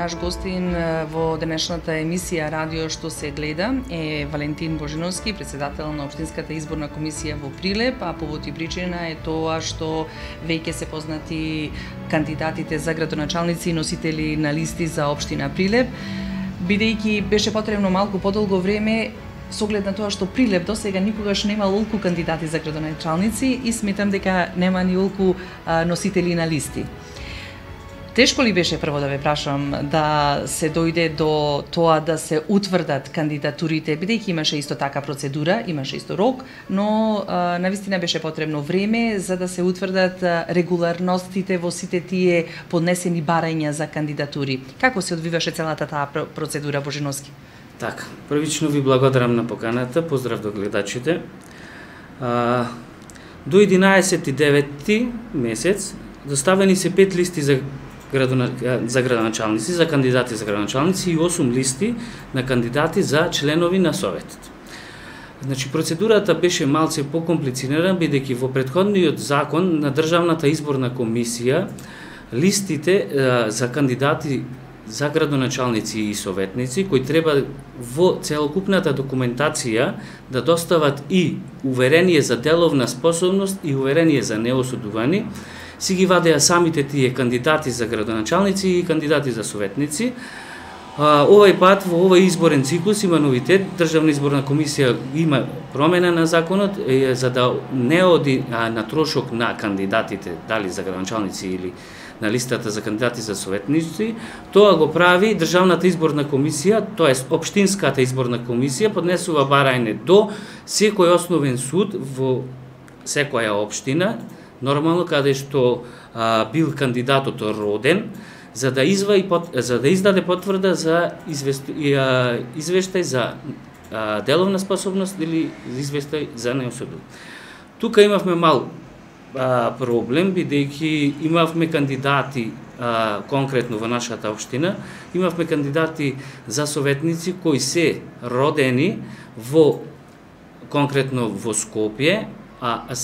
Наш гостин во денешната емисија Радио што се гледа е Валентин Божиновски, председател на Општинската изборна комисија во Прилеп, а повод и причина е тоа што веќе се познати кандидатите за градоначалници и носители на листи за Општина Прилеп. Бидејќи беше потребно малку подолго време, со оглед на тоа што Прилеп досега никогаш нема олку кандидати за градоначалници и сметам дека нема ни олку носители на листи. Тешко ли беше прво да ве прашам да се дојде до тоа да се утврдат кандидатурите, бидејќи имаше исто така процедура, имаше исто рок, но навистина беше потребно време за да се утврдат регуларностите во сите тие поднесени барања за кандидатури. Како се одвиваше целата таа процедура, Божиновски? Така, првично ви благодарам на поканата, поздрав до гледачите. До 11-9 месец доставени се 5 листи за градоначалници, за кандидати за градоначалници и 8 листи на кандидати за членови на Советот. Значи, процедурата беше малце покомплицирана, бидејќи во претходниот закон на Државната изборна комисија листите за кандидати за градоначалници и советници, кои треба во целокупната документација да достават и уверение за деловна способност и уверение за неосудувани, си ги вадеа самите тие кандидати за градоначалници и кандидати за советници. Овај пат во овој изборен циклус има новитет. Државна изборна комисија има промена на законот за да не оди на трошок на кандидатите, дали за градоначалници или на листата за кандидати за советници. Тоа го прави Државната изборна комисија, тоест Општинската изборна комисија, поднесува барање до секој основен суд во секоја општина, нормално каде што бил кандидатот роден, за да издаде потврда за извештај за деловна способност или извештај за неосудување. Тука имавме мал проблем, бидејќи имавме кандидати конкретно во нашата општина, имавме кандидати за советници кои се родени во конкретно во Скопје, а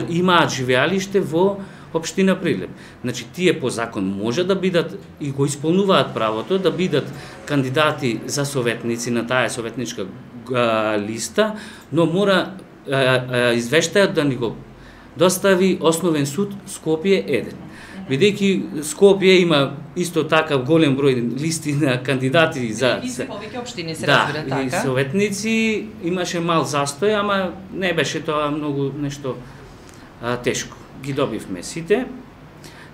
имаат живеалиште во Општина Прилеп. Значи, тие по закон може да бидат и го исполнуваат правото да бидат кандидати за советници на таа советничка листа, но мора извештајот да ни го достави Основен суд Скопје 1. Бидејќи Скопје има исто така голем број листи на кандидати за и се повеќе општини се разбира така. И советници, имаше мал застој, ама не беше тоа многу нешто тешко. Ги добивме сите,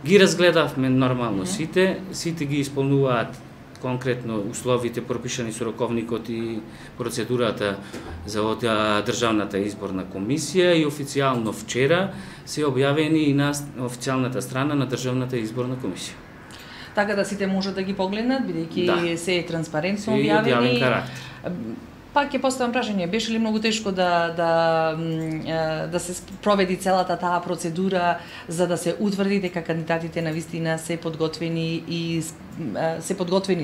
ги разгледавме нормално сите ги исполнуваат конкретно условите пропишани со роковникот и процедурата за Државната изборна комисија и официјално вчера се објавени и на официјалната страна на Државната изборна комисија. Така да сите можат да ги погледнат, бидејќи се е транспарентно објавени. објавени. Карактер. Пак ќе поставам прашање, беше ли многу тешко да се проведи целата таа процедура за да се утврди дека кандидатите на вистина се подготвени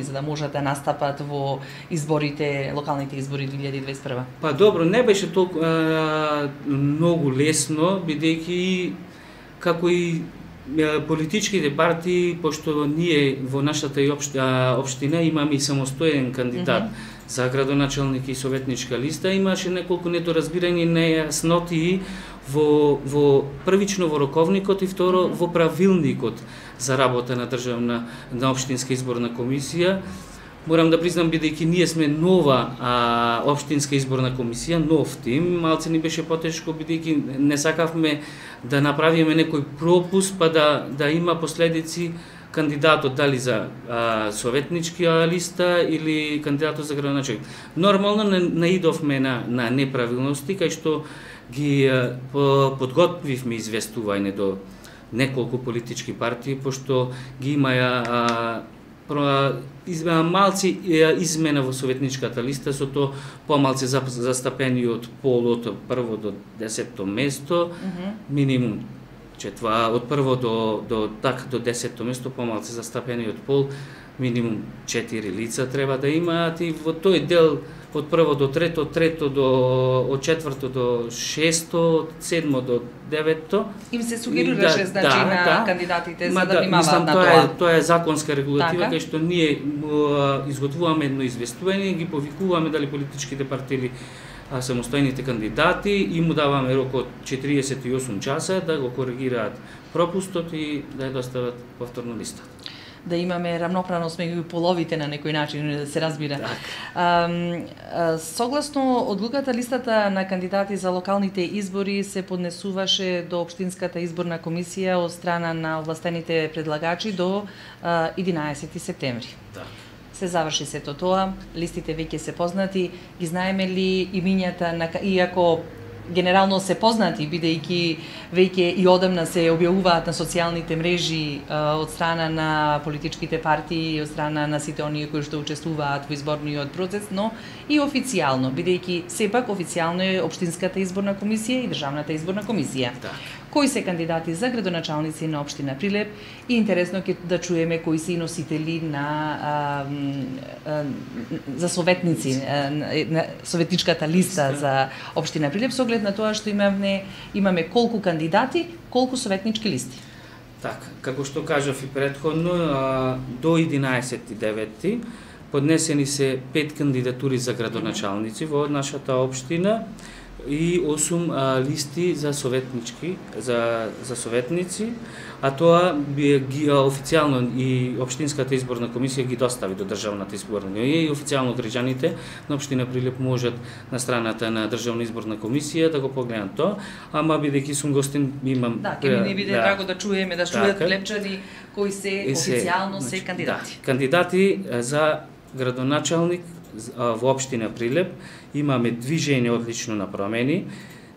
за да можат да настапат во изборите, локалните избори 2021? Па добро, не беше толку многу лесно, бидејќи како и политичките партии, пошто ние во нашата општина имаме и самостоен кандидат за градоначалник и советничка листа, имаше неколку недоразбирање, нејасноти во првично во роковникот и второ во правилникот за работа на Општинска изборна комисија. Морам да признам, бидејќи ние сме нова Општинска изборна комисија, нов тим, малце ни беше потешко, бидејќи не сакавме да направиме некој пропуск па да има последици кандидатот дали за советничка листа или кандидатот за градоначалник. Нормално наидовме на неправилности, кај што ги подготвивме известување до неколку политички партии, пошто ги имаја малци измена во советничката листа, со тоа помалце застапени од пол од прво до 10-то место, минимум од прво до 10-то место помалце застапени од пол, минимум 4 лица треба да имаат и во тој дел од прво до трето, од четврто до шесто, од седмо до девето. Им се сугерираше на кандидатите за да внимаваат на тоа. Тоа е законска регулатива кај што ние изготвуваме едно известување, ги повикуваме дали политичките партии самостојните кандидати и му даваме рок од 48 часа да го коригираат пропустот и да ја достават повторно листа. Да имаме равноправност меѓу половите на некој начин, да се разбира. Согласно одлуката, листата на кандидати за локалните избори се поднесуваше до Општинската изборна комисија од страна на овластените предлагачи до 11 септември. Се заврши сето тоа, листите веќе се познати, ги знаеме ли имињата на, иако генерално се познати, бидејќи веќе и одамна се објавуваат на социјалните мрежи од страна на политичките партии, од страна на сите оние кои што учествуваат во изборниот процес, но и официјално, бидејќи сепак официјално е Општинската изборна комисија и Државната изборна комисија. Кои се кандидати за градоначалници на општина Прилеп и интересно ќе да чуеме кои се и носители на за советници на советничката листа за општина Прилеп, со оглед на тоа што имаме колку кандидати, колку советнички листи. Така, како што кажав и претходно, до 11.9 поднесени се 5 кандидатури за градоначалници во нашата општина и 8 листи за советнички, за советници, а тоа ги официјално и Општинската изборна комисија ги достави до Државната изборна комисија и официјално граѓаните на општина Прилеп можат на страната на Државна изборна комисија да го погледнат тоа, ама бидејќи сум гостин имам ќе ни биде драго да чуеме, да чујат прилепчани кои се официјално се кандидати. Кандидати за градоначалник во општина Прилеп имаме Движење одлично на промени,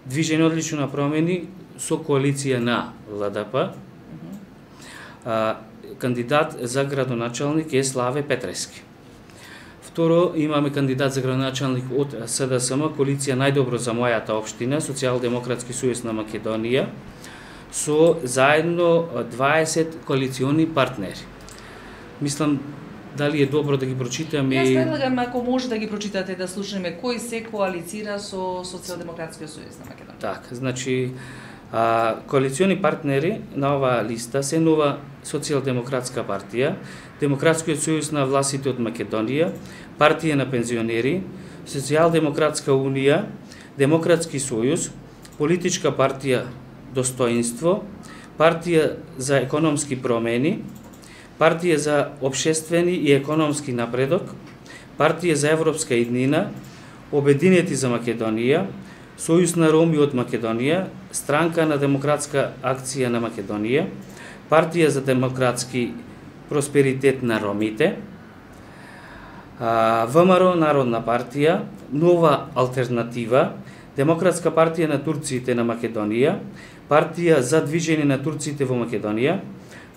Движење одлично на промени со коалиција на ЛДП. Кандидат за градоначалник е Славе Петрески. Второ, имаме кандидат за градоначалник од СДСМ, коалиција Најдобро за мојата општина, Социјалдемократски сојуз на Македонија, со заедно 20 коалициони партнери. Мислам, дали е добро да ги прочитаме? Јас предлагам, ако може да ги прочитате, да слушаме кој се коалицира со Социјалдемократскиот сојуз на Македонија. Така, значи, коалициони партнери на оваа листа се Нова социјалдемократска партија, Демократскиот сојуз на властите од Македонија, Партија на пензионери, Социјалдемократска унија, Демократски сојуз, Политичка партија Достоинство, Партија за економски промени, Партија за општествени и економски напредок, Партија за европска иднина, Обединети за Македонија, Сојуз на роми од Македонија, Странка на демократска акција на Македонија, Партија за демократски просперитет на ромите, ВМРО Народна партија, Нова алтернатива, Демократска партија на турците на Македонија, Партија за движење на турците во Македонија,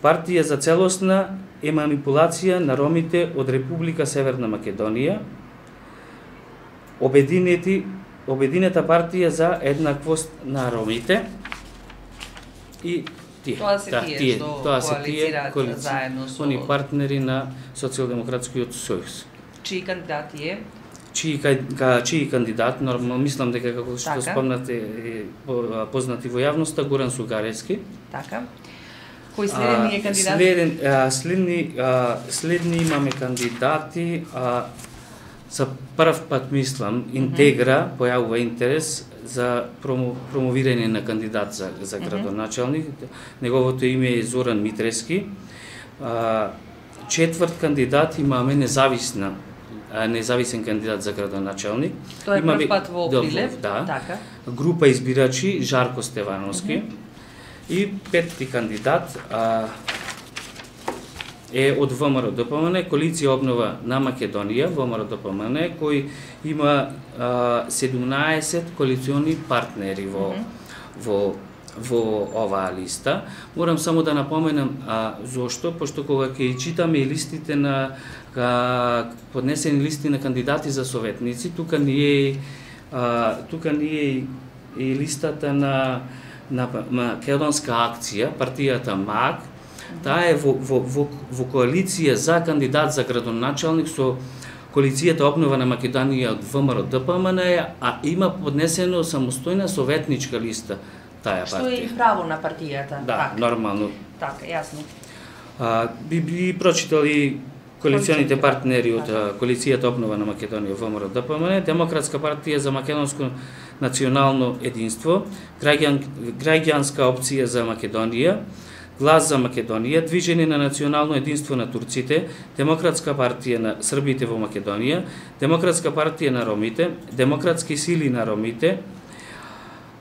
Партија за целосна еманипулација на ромите од Република Северна Македонија, Обединета партија за еднаквост на ромите и тие. Тоа се тие што коалицираат заедно со они партнери на Социјалдемократскиот сојуз. Чии кандидати е? Чии кандидат, нормално мислам дека како што спомнате познати во јавноста, Горан Сугаревски. Така. Кој следен е кандидат? Следни имаме кандидати, за прв пат мислам, Интегра појавува интерес за промовирање на кандидат за градоначалник. Неговото име е Зоран Митрески. Четврт кандидат имаме независен кандидат за градоначалник. Тоа е прв пат во Прилеп, така. Група избирачи Жарко Стевановски. И петти кандидат е од ВМРО ДПМН, Коалиција обнова на Македонија, ВМРО ДПМН, кој има 17 коалициони партнери во оваа листа. Морам само да напоменам зошто, пошто кога ќе читаме и листите на поднесени листи на кандидати за советници, тука не е и листата на Македонска акција, партијата МАК. Таа е во коалиција за кандидат за градоначалник со Коалицијата Обнова на Македонија од ВМРО ДПМН, а има поднесено самостојна советничка листа таа партија. Што е и право на партијата. Да, нормално. Така, јасно. Би прочитали коалиционите партнери од Коалицијата Обнова на Македонија ВМРО ДПМН, Демократска партија за македонско национално единство, Граѓанска опција за Македонија, Глас за Македонија, Движење на национално единство на турците, Демократска партија на србите во Македонија, Демократска партија на ромите, Демократски сили на ромите,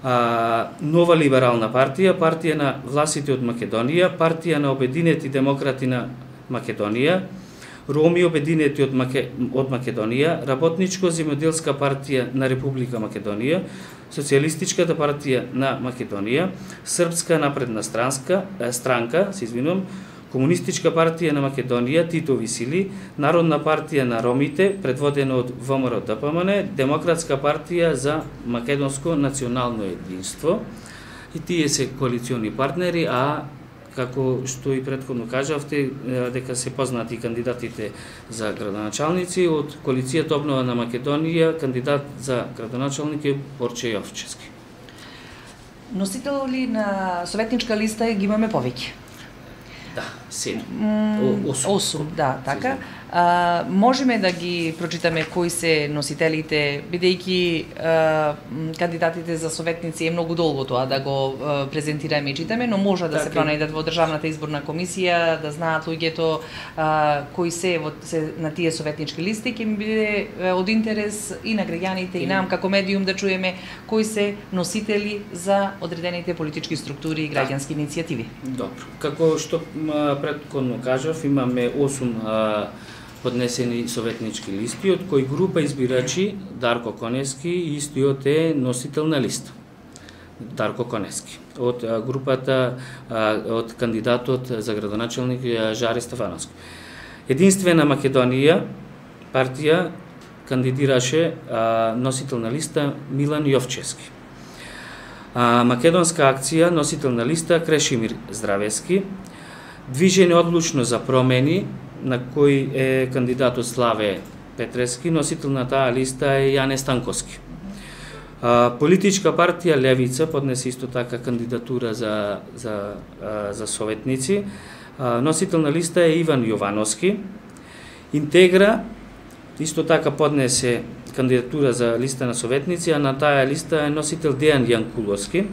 Нова либерална партија, Партија на власите од Македонија, Партија на обединети демократи на Македонија, Роми обединети од Македонија, Работничко-земјоделска партија на Република Македонија, Социјалистичката партија на Македонија, Српска напредна странка, Комунистичка партија на Македонија, Титови сили, Народна партија на ромите, предводена од ВМРО ДПМН, Демократска партија за македонско национално единство. И тие се коалициони партнери, а како што и претходно кажавте, дека се познати кандидатите за градоначалници од Коалицијата Обнова на Македонија, кандидат за градоначалник е Борче Јовчевски. Носители на советничка листа ги имаме повеќе. Да, 8, да, така. Можеме да ги прочитаме кои се носителите, бидејќи кандидатите за советници е многу долго тоа да го презентираме и читаме, но може да се пронајдат во Државната изборна комисија, да знаат луѓето кои се на тие советнички листи, ќе ми биде од интерес и на граѓаните и нам како медиум да чуеме кои се носители за одредените политички структури и граѓански иницијативи. Добро. Како што претходно кажав, имаме 8 поднесени советнички листи, од кои група избирачи Дарко Конески истиот е носител на листа. Дарко Конески. Од групата, од кандидатот за градоначалник Жаре Стефановски. Единствена Македонија партија кандидираше носител на листа Милан Јовчевски. Македонска акција носител на листа Крешимир Здравески. Движење одлучно за промени, на кој е кандидатот Славе Петрески, носител на таа листа е Јане Станковски. Политичка партија Левица поднесе исто така кандидатура за советници. Носител на листа е Иван Јовановски. Интегра исто така поднесе кандидатура за листа на советници, а на таа листа е носител Дејан Јанкуловски.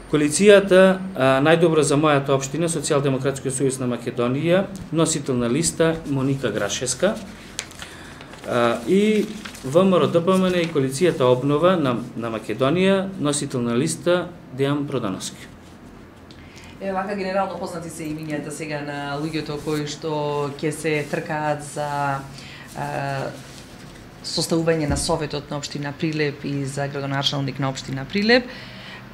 Коалицијата Најдобро за мојата општина, Социјалдемократскиот сојуз на Македонија, носител на листа Моника Грашевска, и ВМРО ДПМН и Коалицијата Обнова на Македонија, носител на листа Дејан Продановски. Вака генерално познати се имињата сега на луѓето кои што ќе се тркаат за составување на советот на општина Прилеп и за градоначалник на општина Прилеп.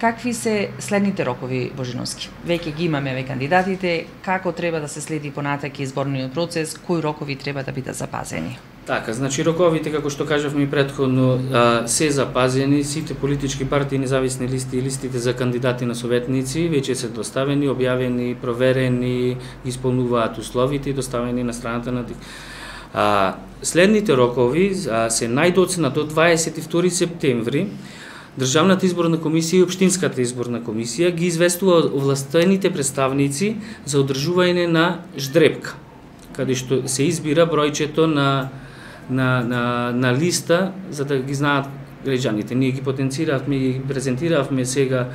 Какви се следните рокови, Божиновски? Веќе ги имаме кандидатите, како треба да се следи понатаки изборниот процес, кои рокови треба да бидат запазени? Така, значи роковите, како што кажавме предходно, се запазени, сите политички партии, независни листи и листите за кандидати на советници веќе се доставени, објавени, проверени, исполнуваат условите и доставени на страната на следните рокови се најдоцна до 22 септември. Државната изборна комисија и Општинската изборна комисија ги известува овластените представници за одржување на ждрепка, каде што се избира бројчето на листа, за да ги знаат граѓаните. Ние ги потенциравме и ги презентиравме сега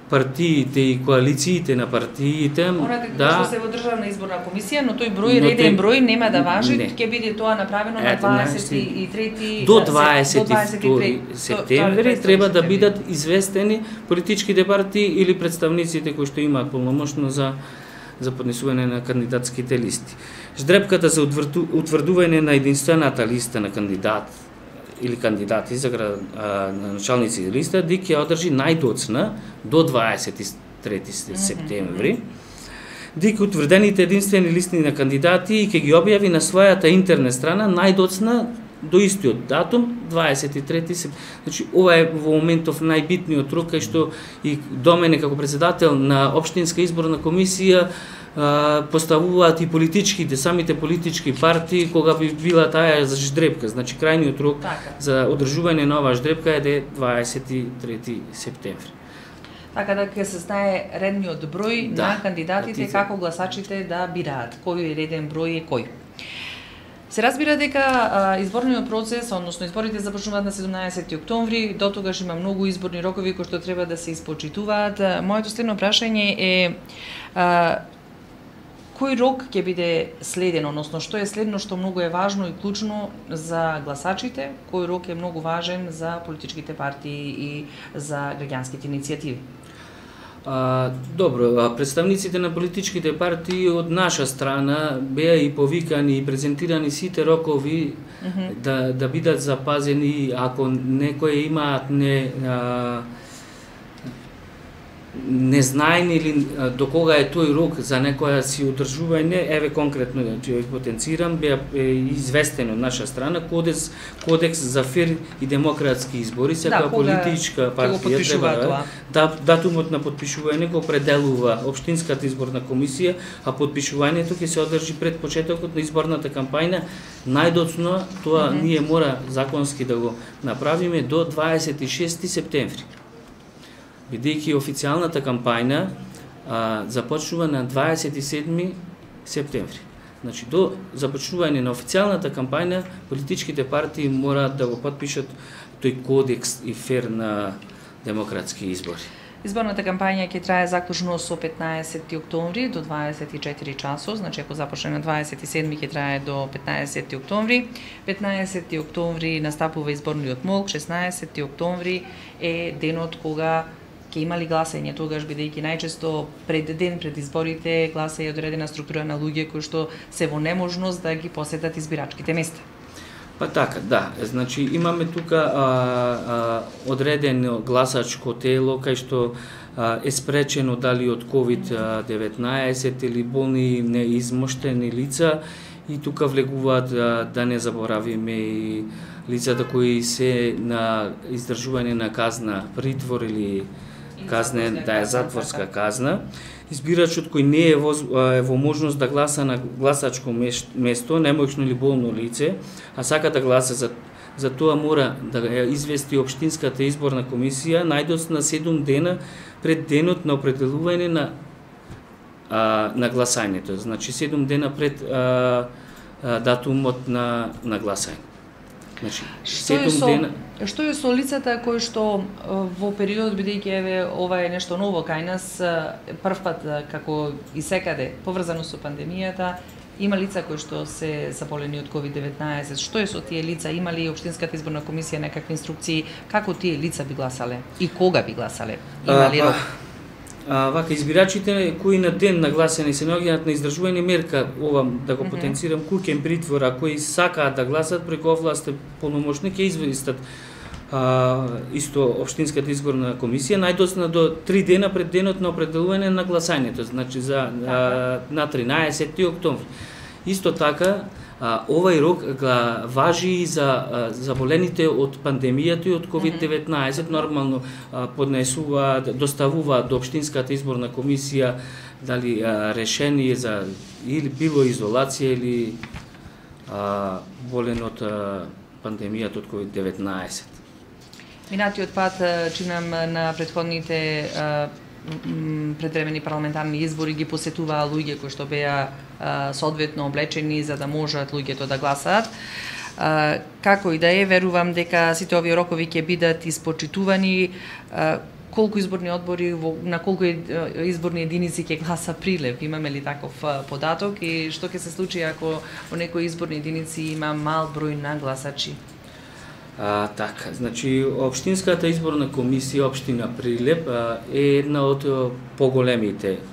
партиите и коалициите на партиите. Да, што се во Државна изборна комисија, но тој број, реден број нема да важи, ќе биде тоа направено на 23 до 22 септември треба да бидат известени политичките партии или представниците кои што имаат полномошно за поднесување на кандидатските листи. Ждрепката за утврдување на единствената листа на кандидат или кандидати за началници листа ќе одржи најдоцна до 23 септември. Дик утврдените единствени листи на кандидати ќе ги објави на својата интернет страна најдоцна до истиот датум 23 септември. Значи ова е во моментов најбитниот рок кај што и до мене како председател на општинска изборна комисија поставуваат и политичките, самите политички партии кога би била таа за ждрепка. Значи крајниот рок за одржување на оваа ждрепка е 23 септември. Така да ќе се знае редниот број на кандидатите како гласачите да бираат кој е реден број и кој. Се разбира дека изборниот процес, односно изборите започнуваат на 17 октомври, до тогаш има многу изборни рокови кои што треба да се испочитуваат. Моето следно прашање е кој рок ќе биде следен, односно што е следно што многу е важно и клучно за гласачите, кој рок е многу важен за политичките партии и за граѓанските иницијативи? Добро, представниците на политичките партии од наша страна беа и повикани и презентирани сите рокови да бидат запазени ако некои имаат незнаени или до кога е тој рок за некоја си одржување, еве конкретно ќе потенцирам, беа известен од наша страна кодекс за фер и демократски избори, секоја политичка партија треба датумот на потпишување го определува општинската изборна комисија, а потпишувањето ќе се одржи пред почетокот на изборната кампања, најдоцно тоа ние мора законски да го направиме до 26 септември. Бидејќи официјалната кампања започнува на 27 септември. Значи, до започнување на официјалната кампања, политичките партии мораат да го потпишат тој кодекс и фер на демократски избори. Изборната кампања ќе трае заклучно со 15 октомври до 24 часот, значи ако започне на 27 ќе трае до 15 октомври. 15 октомври настапува изборниот молк, 16 октомври е денот кога ќе има ли гласање, тогаш бидејќи најчесто пред изборите гласа е одредена структура на луѓе кои што се во неможност да ги посетат избирачките места. Па така, да. Значи имаме тука одредено гласачко тело кај што е спречено дали од COVID-19 или болни неизмоштени лица и тука влегуваат да не заборавиме и лицата кои се на издржување на казна притвор или казна, да е затворска казна. Избирачот кој не е во можност да гласа на гласачко место, немоќно или болно лице, а сака да гласа за тоа мора да ја извести општинската изборна комисија најдоцна 7 дена пред денот на определување на гласањето. Значи 7 дена пред датумот на гласање. Значи, што е со лицата кои што во период, бидејќи еве ова е нешто ново кај нас, првпат како и секаде поврзано со пандемијата, има лица кои што се заболени од COVID-19. Што е со тие лица? Има ли општинската изборна комисија некакви инструкции како тие лица би гласале и кога би гласале? Има ли рок? Вака, избирачите кои на ден на гласање се наоѓаат на издржување мерка, ова да го потенцирам, куќен притвор, а кои сакаат да гласат преку овластен полномошник ќе известат исто општинската изборна комисија најдоцна до 3 дена пред денот на определување на гласањето, значи на 13 октомври. Исто така, овај рок важи и за заболените од пандемијата и од COVID-19, нормално поднесуваат, доставуваат до општинската изборна комисија дали решение за или било изолација или болен од пандемијата од COVID-19. Минатиот пат, чинам на претходните предвремени парламентарни избори ги посетуваа луѓе кои што беа соодветно облечени за да можат луѓето да гласаат. Како и да е, верувам дека сите овие рокови ќе бидат испочитувани. Колку изборни одбори, на колку изборни единици ќе гласа Прилеп? Имаме ли таков податок и што ќе се случи ако во некои изборни единици има мал број на гласачи? Така, значи општинската изборна комисија општина Прилеп е една од поголемите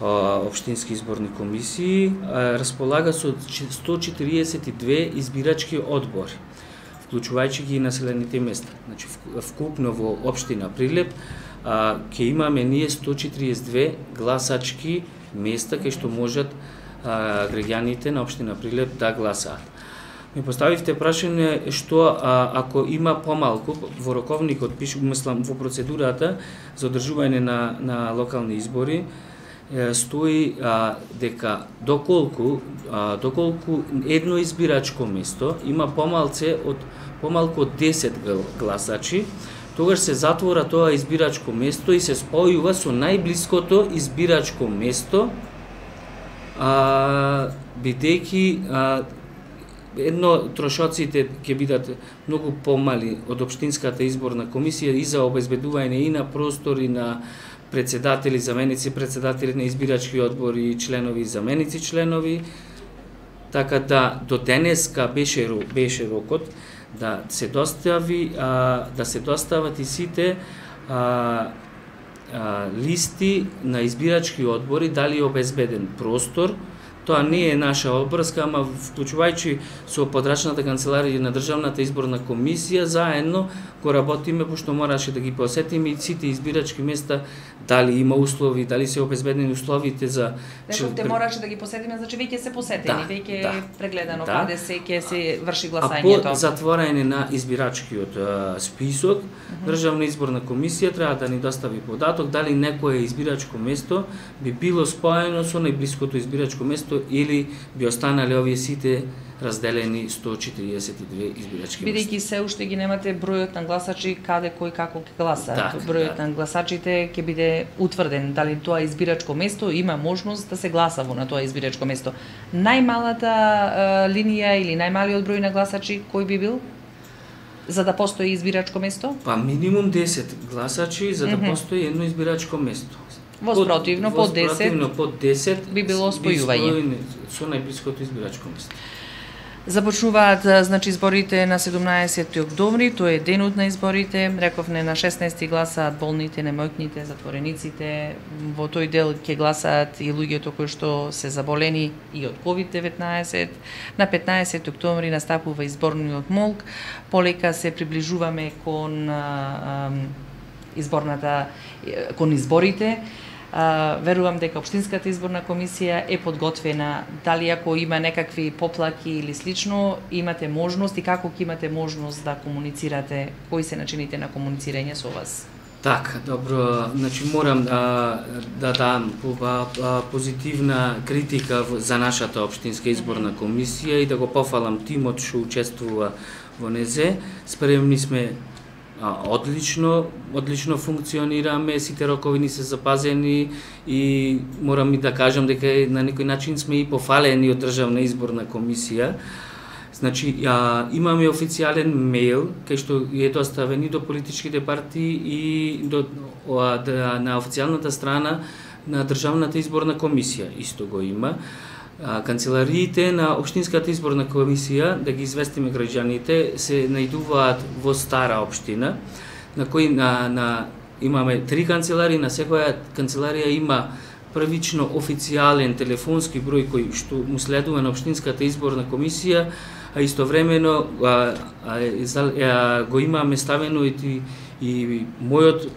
општински изборни комисии, располага со 142 избирачки одбори, вклучувајќи ги и населените места. Значи вкупно во општина Прилеп ќе имаме ние 142 гласачки места кај што можат граѓаните на општина Прилеп да гласаат. ми поставивте прашање што ако има помалку во роковникот пише, мислам во процедурата за одржување на локални избори стои дека доколку едно избирачко место има помалку од 10 гласачи, тогаш се затвора тоа избирачко место и се спојува со најблиското избирачко место, бидејќи трошоците ќе бидат многу помали од Општинската изборна комисија и за обезбедување и на простор и на председатели, заменици председатели на избирачки одбори, членови и заменици членови. Така да до денеска беше рокот да се достават и сите листи на избирачки одбори, дали е обезбеден простор. Тоа не е наша обврска, ама вклучувајќи со подрачната канцеларија на Државната изборна комисија, заедно го работиме, пошто мораше да ги посетиме и сите избирачки места, дали има услови, дали се обезбедени условите за... Рековте мораше да ги посетиме, значи веќе се посетени, веќе е прегледано каде се ќе се врши гласањето. А по затворање на избирачкиот список, Државна изборна комисија треба да ни достави податок дали некое избирачко место би било споено со најблиското избирачко место или би останале овие сите разделени 142 избирачки места. Бидејќи се уште ги немате бројот на гласачи каде кој како ќе гласа. Бројот на гласачите ќе биде утврден, дали тоа избирачко место има можност да се гласа во на тоа избирачко место. Најмалата линија или најмалиот број на гласачи кој би бил за да постои избирачко место? Па минимум 10 гласачи за да постои едно избирачко место. Воспротивно под 10 би било спојување со најблиското избирачко место. Започнуваат значи изборите на 17 октомври, тоа е денот на изборите. Рековне на 16 гласаат болните, немојкните, затворениците. Во тој дел ќе гласаат и луѓето кои што се заболени и од COVID-19. На 15 октомври настапува изборниот молк. Полека се приближуваме кон изборите. Верувам дека Општинската изборна комисија е подготвена, дали ако има некакви поплаки или слично, имате можност и како ќе имате можност да комуницирате, кои се начините на комуницирање со вас? Така, добро, значи морам да дам позитивна критика за нашата Општинска изборна комисија и да го пофалам тимот што учествува во незе. Спремни сме одлично функционираме, сите рокови ни се запазени и морам и да кажам дека на некој начин сме и пофалени од Државна изборна комисија. Значи, имаме официјален мејл кај што е доставен и до политичките партии и на официјалната страна на Државната изборна комисија. Исто го има. Канцелариите на Општинската изборна комисија, да ги известиме граѓаните, се најдуваат во Стара општина, на кои имаме 3 канцеларии, на секоја канцеларија има првично официјален телефонски број кој што му следува на Општинската изборна комисија, а истовремено го имаме ставено и мојот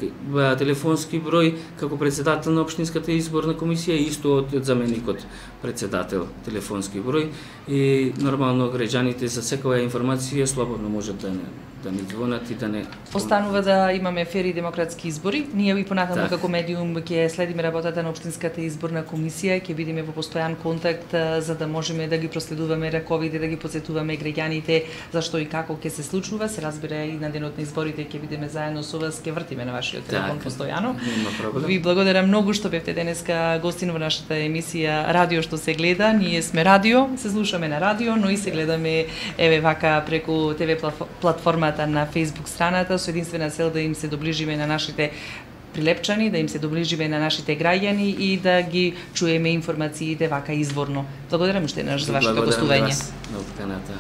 телефонски број како председател на Општинската изборна комисија и исто од заменикот председател телефонски број и нормално граѓаните за секоја информација слободно можат да ни звонат и да не... Останува да имаме фери и демократски избори. Ние и понатаму како медиум ќе следиме работата на Општинската изборна комисија, ќе бидеме во постојан контакт за да можеме да ги проследуваме раковите, да ги потсетуваме граѓаните зашто и како ќе се случува. Се разбира и на денот на изборите ќе бидеме заедно со вас, ќе вртиме на вашиот телефон постојано. Нема проблем. Ви благодарам многу што бевте денеска гостин во нашата емисија Радио што се гледа. Ние сме радио, се слушаме на радио, но и се гледаме вака преку ТВ платформата на Facebook страната со единствена цел да им се доближиме на нашите прилепчани, да им се доближиме на нашите граѓани и да ги чуеме информациите вака изворно. Благодарам уште еднаш за вашето гостување. Благодарам вас на Каната.